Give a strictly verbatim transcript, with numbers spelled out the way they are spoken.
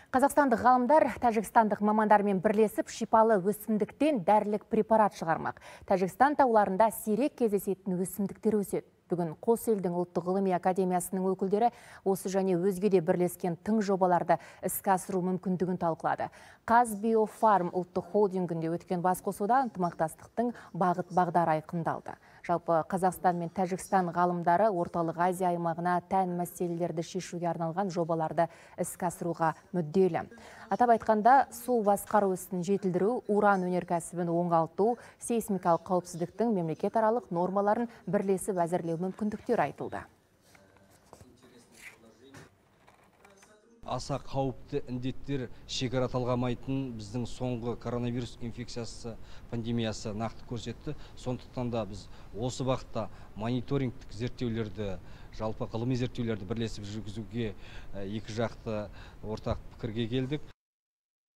Қазақстандық ғалымдар тәжікстандық мамандармен бірлесіп шипалы өсімдіктен дәрілік препарат шығармақ. Тәжікстан тауларында сирек кездесетін өсімдіктер өседі. Бүгін қос елдің ұлттық ғылыми академиясының өкілдері осы және өзге де бірлескен тың жобаларды іске асыру мүмкіндігін талқылады. Қазбиофарм ұлттық холдингінде өткен басқосуда ынтымақтастықтың бағыт бағдары айқындалды. Жалпы Қазақстан мен Тәжікстан ғалымдары орталық Азия аймағына тән мәселелерді шешуге арналған жобаларды іске асыруға мүдделі. Атап айтқанда, су басқару ісін жетілдіру, уран өнеркәсібін оңалту, сейсмикалық қауіпсіздіктің мемлекет аралық нормаларын бірлесіп әзірлеу мүмкіндіктер айтылды. Аса қауіпті індеттер шекара талғамайтын біздің соңғы коронавирус инфекциясы пандемиясы нақты көрсетті. Сондықтан да біз осы бағытта мониторингтік зерттеулерді, жалпы ғылыми зерттеулерді бірлесіп жүргізуге екі жақты ортақ пікірге келдік.